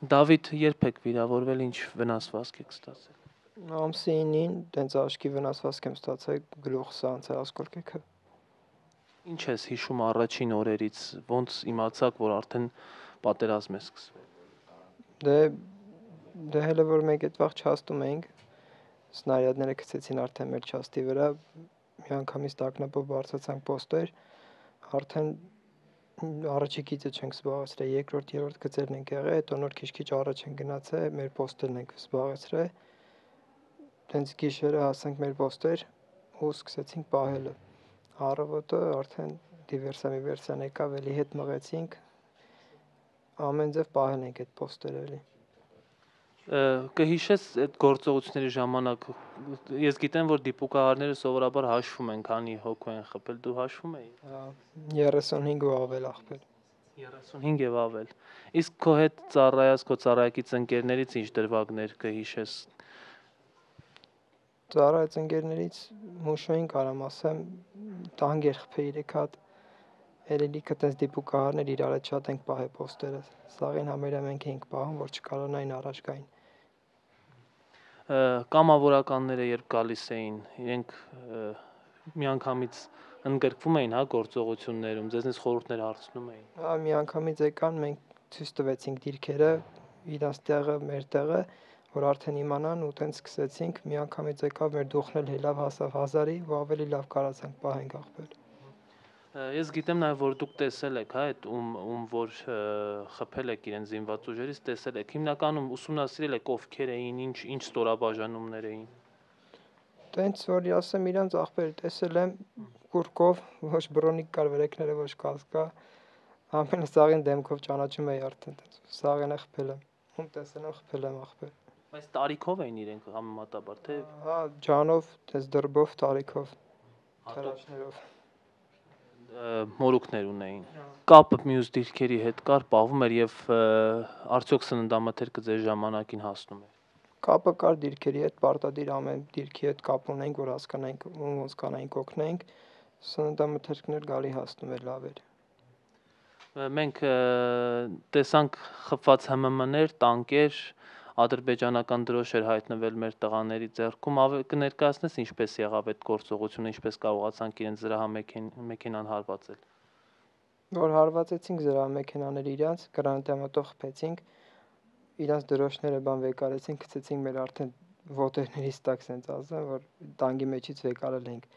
Դավիթ երբ եք վիրավորվել, ինչ վնասվածք եք ստացել։ Ամսի 9-ին տենց աչքի վնասվածք եմ ստացել, գլուխս անցել ասկոլկեքը։ Ինչ ես հիշում առաջին օրերից, ոնց իմացաք, որ արդեն պատերազմ է սկսվել։ Դե հələ որ մեկ այդ վաղ չաստում էինք, սնարյադները գցեցին արդեն մեր չաստի վրա, միանգամից տակնապով բարձրացանք պոստեր, արդեն առաջի գիծը չենք զբաղեցրել, երկրորդ, երրորդ գծերն ենք եղել, հետո նոր քիչ-քիչ առաջ ենք գնացել, մեր պոստերն ենք զբաղեցրել, տենց գիշերը հասանք մեր պոստեր ու սկսեցինք պահելը, առավոտը արդեն դիվերսիա եկավ, էլի հետ մղեցինք, ամեն ձև պահել ենք այդ պոստերը էլի։ Կհիշես այդ գործողությունների ժամանակ, ես գիտեմ, որ դիպուկահարները սովորաբար հաշվում են, քանի հոգու են խփել, դու հաշվում էի։ 35 ու ավել ախպել։ 35 եւ ավել։ Իսկ քո հետ ծառայած, քո ծառայակից ընկերներից ինչ դրվագներ կհիշես։ Ծառայած ընկերներից Մուշոյին կարամ ասեմ, տանգ էր խփել 3 հատ, էլի լիքը տես դիպուկահարներ իրար հետ շատ ենք պահել պոստերը, սաղին համարյա մենք էինք պահում, որ չկարողանային առաջ գային։ Կամավորականները երբ գալիս էին, իրենք միանգամից ընդգրկվում էին, հա, գործողություններում, ձեզնից խորհուրդներ հարցնում էին։ Հա, միանգամից եկան, մենք ցույց տվեցինք դիրքերը, իրանց տեղը, մեր տեղը, որ արդեն իմանան ու տենց սկսեցինք, միանգամից եկավ մեր դուխն էլ հելավ հասավ 1000-ի ու ավելի լավ կարացանք պահենք ախպել։ Ես գիտեմ նաև, որ դուք տեսել եք, հա, այդ ում որ խփել եք իրեն զինված ուժերից, տեսել եք։ Հիմնականում ուսումնասիրել եք ովքեր էին, ինչ ստորաբաժանումներ էին։ Տենց որ ասեմ իրանց ախպեր տեսել եմ կուրկով, ոչ բրոնիկ կար վրեքները, ոչ կասկա, ամենը սաղին դեմքով ճանաչում էի արդեն տենց, սաղին է խփել եմ, ում տեսել եմ խփել եմ ախպեր։ Բայց տարիքով էին իրենք համեմատաբար, թե։ Հա, ջանով, տես դրբով, տարիքով, թրաշներով։ Մորուքներ ունեին։ Կապը մյուս դիրքերի հետ կար, պահվում էր եւ արդյոք սննդամթերքը ձեր ժամանակին հասնում էր։ Կապը կար դիրքերի հետ, պարտադիր ամեն դիրքի հետ կապ ունենք, որ հասկանանք ոնց կանայինք օգնենք, սննդամթերքն էլ գալի հասնում էր լավ էր։ Մենք տեսանք խփված ՀՄՄ-ներ, տանկեր, ադրբեջանական դրոշ էր հայտնվել մեր տղաների ձեռքում, կներկայացնես ինչպես եղավ այդ գործողությունը, ինչպես կարողացանք իրենց զրահամեքենան հարվածել։ Որ հարվածեցինք զրահամեքենաները իրանց, գրանատամատով խփեցինք, իրանց դրոշները վեկարեցինք, գցեցինք մեր արդեն ոտերներից տակ, սենց ասեմ, որ տանկի մեջից վեկարել ենք։